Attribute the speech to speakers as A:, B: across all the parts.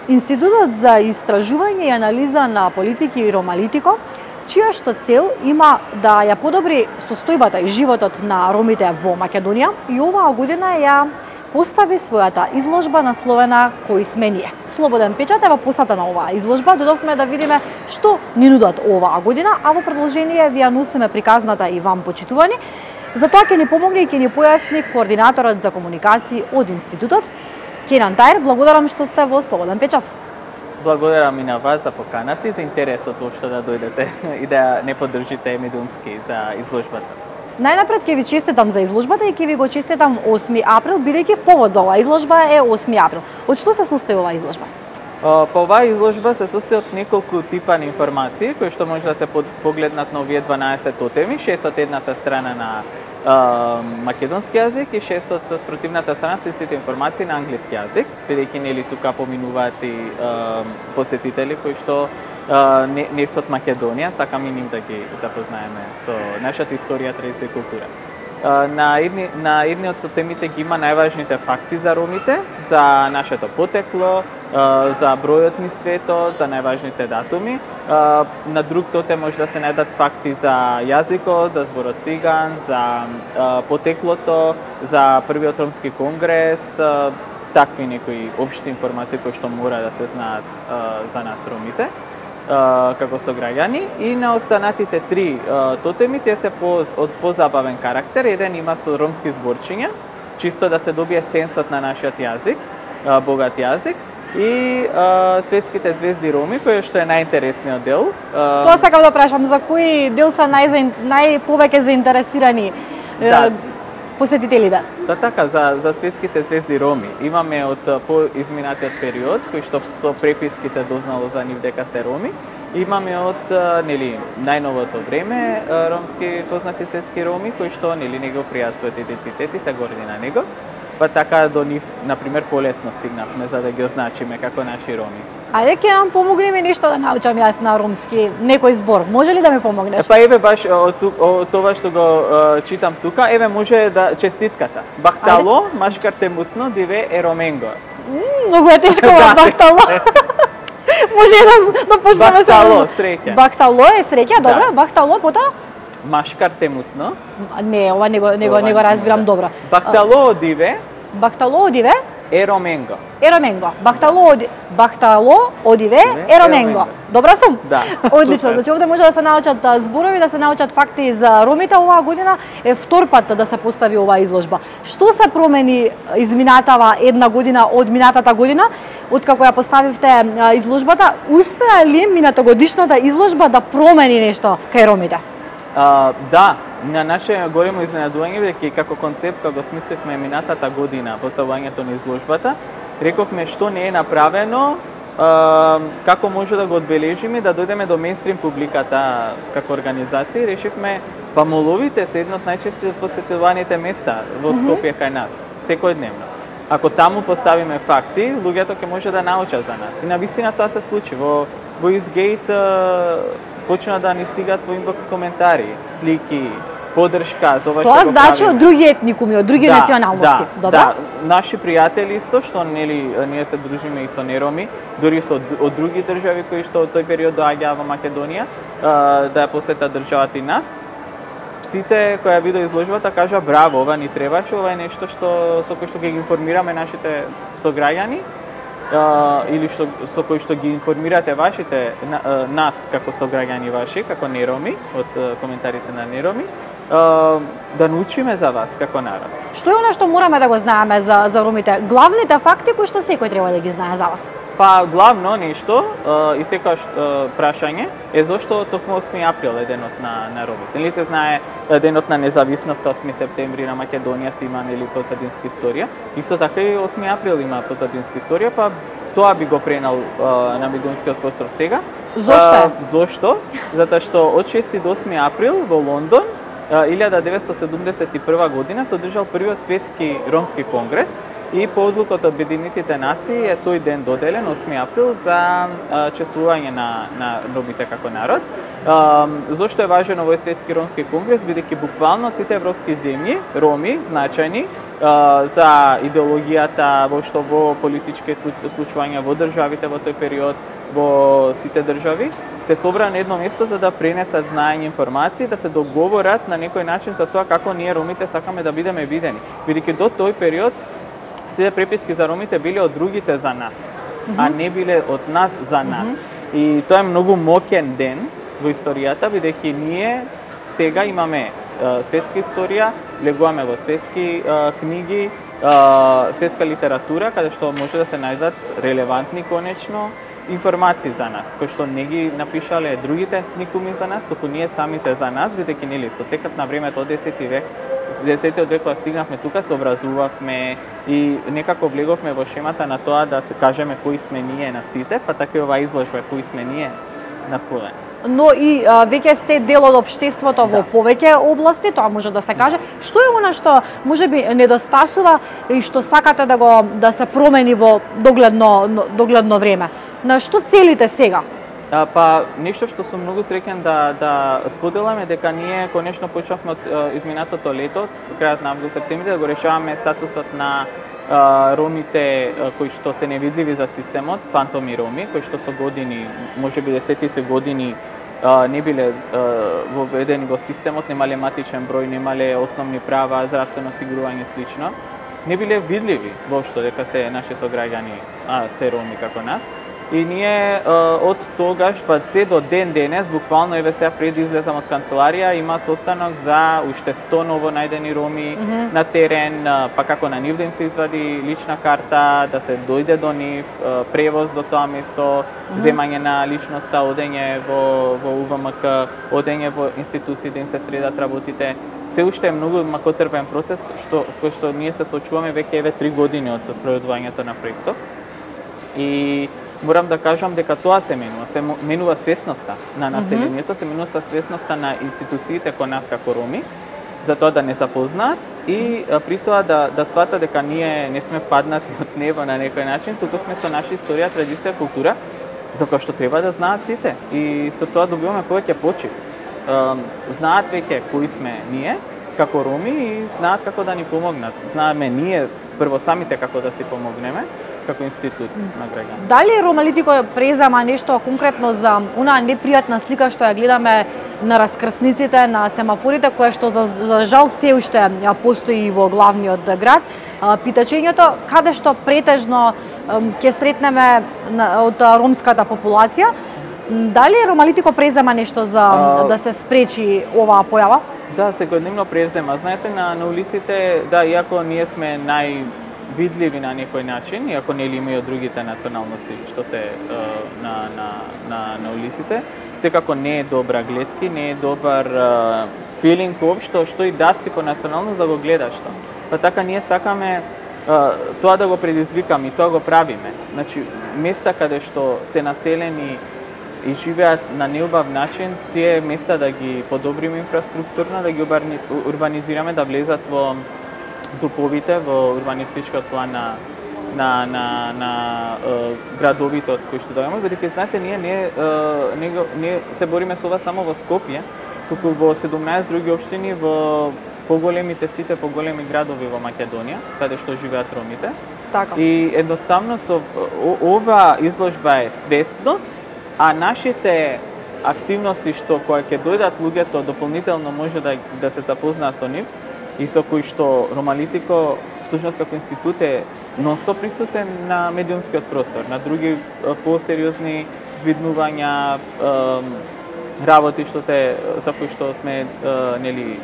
A: Институтот за истражување и анализа на политики и Ромалитико, чија што цел има да ја подобри состојбата и животот на ромите во Македонија и оваа година ја постави својата изложба насловена "Кои сме ние". Слободен печат е во посета на оваа изложба. Додовме да видиме што ни нудат оваа година, а во продолжение ви ја носиме приказната и вам почитувани. За тоа ќе ни помогне и ќе ни појасни координаторот за комуникации од институтот, Кенан Тајр. Благодарам што сте во Слободен печат.
B: Благодарам и на вас за поканата и за интересот воопшто да дојдете и да не поддржите Медумски за изложбата.
A: Најнапред ќе ви честитам за изложбата и ќе ви го честитам 8 април, бидејќи повод за оваа изложба е 8 април. Од што се состои оваа изложба?
B: По оваа изложба се состои од неколку типа на информации кои што може да се погледнат на овие 12 тотеми, 6 од едната страна на македонски јазик и 6 од спротивната страна се истите информации на англиски јазик, бидејќи нели тука поминуваат и посетители кои што не се од Македонија, сакам и нив да ги запознаеме со нашата историја, традиција и култура. На едни од темите ги има најважните факти за ромите, за нашето потекло, за бројот низ светот, за најважните датуми. На друг тотем може да се најдат факти за јазикот, за зборот циган, за потеклото, за првиот ромски конгрес, такви некои општи информации кои што мора да се знаат за нас ромите како сограѓани. И на останатите 3 тотеми, те се од позабавен карактер. Еден има со ромски зборчиња, чисто да се добие сенсот на нашиот јазик, богат јазик. И светските звезди роми, кој што е најинтересниот дел.
A: Тоа сакам да прашам, за кој дел се најповеќе заинтересирани посетителите?
B: Да, така, за светските звезди роми. Имаме од поизминатиот период, кој што со преписки се дознало за нив дека се роми. Имаме од најновото време ромски познати светски роми кои што не го пријат својот идентитет и се горди на него. Па така до нив, например, полесно стигнавме за да ги означиме како наши роми.
A: Ајде ќе нам помогне ми нешто да научам јас на ромски, некој збор. Може ли да ми помогнеш?
B: Па еве баш тоа што го читам тука, еве може да честитката. Бахтало, машкарте мутно, диве ероменго.
A: Многу е тешко бахтало. Може да почнеме се.
B: Бахтало, среќа.
A: Бахтало е среќа, добро. Бахтало, потоа?
B: Машкарте мутно.
A: Не, ова не го разбирам добро.
B: Бахтало одиве.
A: Бахтало одиве?
B: Ероменго.
A: Ероменго. Бахтало одиве ероменго. Добра сум?
B: Да.
A: Одлично. Значи овде може да се научат зборови, да се научат факти за ромите. Оваа година е втор пат да се постави оваа изложба. Што се промени изминатава една година од минатата година, откако ја поставивте изложбата? Успеа ли минатогодишната изложба да промени нешто кај ромите?
B: Да, на наше големо изненадување, бидејќи како концепт кога го смисливме минатата година поставувањето на изложбата, рековме што не е направено, како може да го одбележиме, да дојдеме до мејнстрим публиката како организација. Решивме моловите се едно од најчесто посетуваните места во Скопје кај нас, секојдневно. Ако таму поставиме факти, луѓето ќе може да научат за нас. И навистина тоа се случи. Во Eastgate почна да ни стигат во инбокс коментари, слики, поддршка за ова што го правиме.
A: Тоа значи од други етникуми, од други националности, добро?
B: Да, наши пријатели исто што ние се дружиме и со нероми, дури со од други држави кои што од тој период доаѓаа во Македонија да ја посетат државата и нас. Сите кои ја видеа изложбата кажа браво, ова ни требаше, ова е нешто со кој што ги информираме нашите сограѓани. Или со кој што ги информирате вашите нас како сограѓани ваши, како нероми, од коментарите на нероми, да научиме за вас како народ.
A: Што е она што мораме да го знаеме за ромите? Главните факти кои што секој треба да ги знае за вас?
B: Па главно нешто и секојаш прашање е зошто токму 8 април е денот на ромите. Нели се знае денот на независност 8 септември на Македонија си има нели позадинска историја. Исто така и 8 април има позадинска историја, па тоа би го пренал на медиумскиот простор сега.
A: Зошто?
B: Зошто? Затоа што од 6 до 8 април во Лондон 1971 година се одржал првиот светски ромски конгрес, И по одлука од Обединетите нации е тој ден доделен 8 април за чествување на ромите како народ. Зошто е важен овој светски ромски конгрес, бидејќи буквално сите европски земји, роми, значајни за идеологијата, воопшто во политички случувања во државите во тој период, во сите држави, се собра на едно место за да пренесат знаење, информации, да се договорат на некој начин за тоа како ние ромите сакаме да бидеме видени. Бидејќи до тој период сите преписки за ромите биле од другите за нас, а не биле од нас за нас. И тоа е многу моќен ден во историјата, бидејќи ние сега имаме светска историја, влегуваме во светски книги, светска литература, каде што може да се најдат релевантни конечно информации за нас, кои што не ги напишале другите етникуми за нас, туку ние самите за нас, бидејќи нели со текот на времето од 10 век, 10 век кога стигнавме тука, се образувавме и некако влеговме во шемата на тоа да се кажеме кои сме ние на сите, па така и оваа изложба кои сме ние на Словенија.
A: Но и веќе сте дел од општеството во повеќе области, тоа може да се каже. Што е она што можеби недостасува и што сакате да се промени во догледно време? На што целите сега?
B: Па нешто што сум многу среќен да споделаме, дека ние конечно почнавме од изминатото лето, крајот на август, септември, да го решаваме статусот на ромите кои што се невидливи за системот, фантоми роми, кои што со години, можеби десетици години не биле воведени во системот, немале матичен број, немале основни права, здравствено осигурување и слично. Не биле видливи воопшто дека се наши сограѓани, се роми како нас. И ние од тогаш па се до ден денес, буквално еве сега пред излезам од канцеларија, има состанок за уште 100 ново најдени роми на терен, па како на нив да им се извади лична карта, да се дојде до нив, превоз до тоа место, земање на личноста, одење во УВМК, одење во институции да им се средат работите. Се уште е многу макотрпен процес кој што ние се соочуваме веќе еве 3 години од спроведувањето на проектов. И морам да кажам дека тоа се менува свесноста на населението, се менува свесноста на институциите кон нас како роми, за тоа да не запознаат и при тоа да сватат дека ние не сме паднати од небо на некој начин, туку сме со наша историја, традиција, култура, за која што треба да знаат сите. И со тоа добиваме повеќе почит. Знаат веќе кои сме ние како роми и знаат како да ни помогнат. Знаеме ние прво самите како да си помогнеме како институт на граѓани.
A: Дали Ромалитико презема нешто конкретно за онаа непријатна слика што ја гледаме на раскрсниците, на семафорите, која што за жал се уште постои во главниот град? Питачењето каде што претежно ќе сретнеме од ромската популација, дали Ромалитико презема нешто за да се спречи оваа појава?
B: Да, секојдневно презема. Знаете, на улиците, да, иако ние сме видливи на некој начин, иако нели има и од другите националности што се на улиците, секако не е добра гледки, не е добар филинг општо, што и да си по националност да го гледаш тоа. Па така ние сакаме тоа да го предизвикаме и тоа го правиме. Значи, места каде што се населени и живеат на неубав начин, тие места да ги подобриме инфраструктурно, да ги урбанизираме, да влезат во туповите, во урбанистичкиот план на градовите од кои што доаѓаме, бидејќи знаете ние се бориме со ова само во Скопје, туку во 17 други општини во сите поголеми градови во Македонија, каде што живеат ромите.
A: Така.
B: И едноставно со ова изложба е свесност, а нашите активности што кои ќе дојдат луѓето дополнително може да се запознаат со нив и со кои што Ромалитико всушност како институт е нонстоп присутен на медиумскиот простор, на други посериозни збиднувања, работи што за кои што сме нели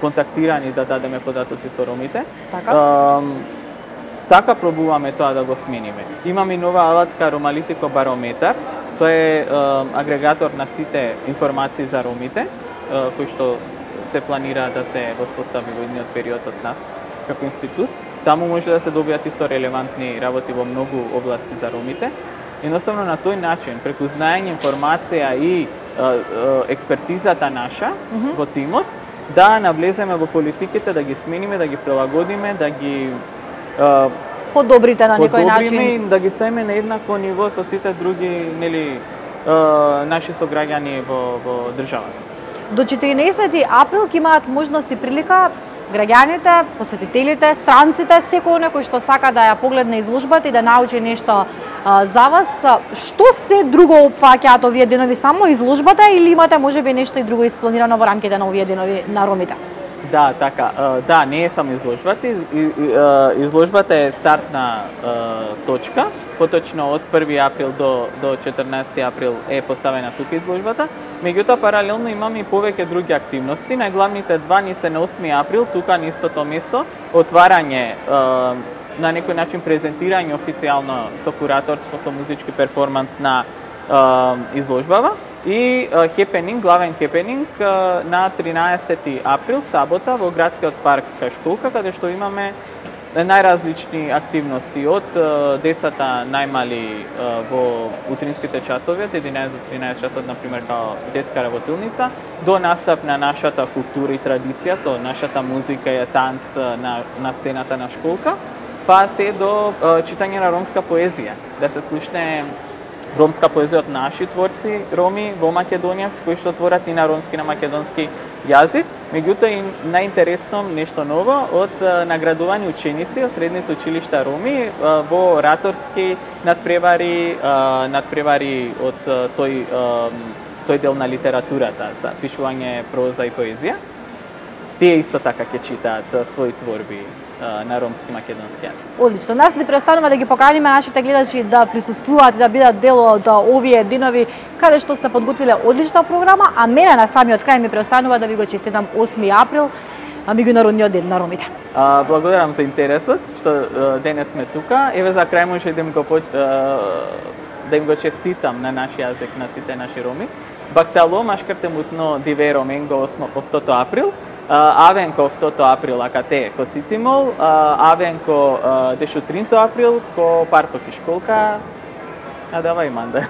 B: контактирани да дадеме податоци со ромите. Така пробуваме тоа да го смениме. Имаме и нова алатка Ромалитико барометар. Тоа е агрегатор на сите информации за ромите, кои што се планира да се воспостави во идниот период од нас како институт. Таму може да се добијат исто релевантни работи во многу области за ромите. Едноставно на тој начин, преку знаење, информација и експертизата наша во тимот, да навлеземе во политиките, да ги смениме, да ги прилагодиме, да ги
A: подобрите на некој начин.
B: И да ги ставиме на еднакво ниво со сите други, нели, наши сограѓани во државата.
A: До 14 април ќе имаат можност и прилика граѓаните, посетителите, странците, секој некој што сака да ја погледне изложбата и да научи нешто за вас. Што се друго опфаќаат овие денови, само изложбата или имате можеби нешто и друго испланирано во рамките на овие денови на ромите?
B: Да, така. Да, не е само изложбата. Изложбата е стартна точка. Поточно од 1 април до 14 април е поставена тука изложбата. Меѓутоа, паралелно имаме и повеќе други активности. Најглавните два ни се на 8 април, тука на истото место, отварање, на некој начин презентирање официјално со кураторство, со музички перформанс на изложбава и хепенинг, главен хепенинг на 13 април, сабота, во градскиот парк кај школка, каде што имаме најразлични активности од децата најмали во утринските часови, од 11 до 13 часот, например, као детска работилница, до настап на нашата култура и традиција со нашата музика и танц на сцената на школка, па се до читање на ромска поезија, да се слушне ромска поезија од наши творци роми во Македонија, кои што творат и на ромски, на македонски јазик. Меѓутоа и најинтересно нешто ново од наградувани ученици од средните училишта роми во раторски надпревари од тој дел на литературата, за пишување проза и поезија. Тие исто така ќе читаат своји творби на ромски македонски јазик.
A: Одлично. Нас ни преостанува да ги поканиме нашите гледачи да присуствуваат и да бидат дел од овие денови каде што сте подготвиле одлична програма, а мене на самиот крај ми преостанува да ви го честитам 8 април, меѓународниот ден на ромите.
B: Благодарам за интересот што денес сме тука. Еве за крај може да им го честитам на наш јазик на сите наши роми. Бактало машкарте мутно диверо менго 8 април. Авенко 2 април акате ко Ситимол, авенко дешо 3 април ко паркот и школка, а давај манда.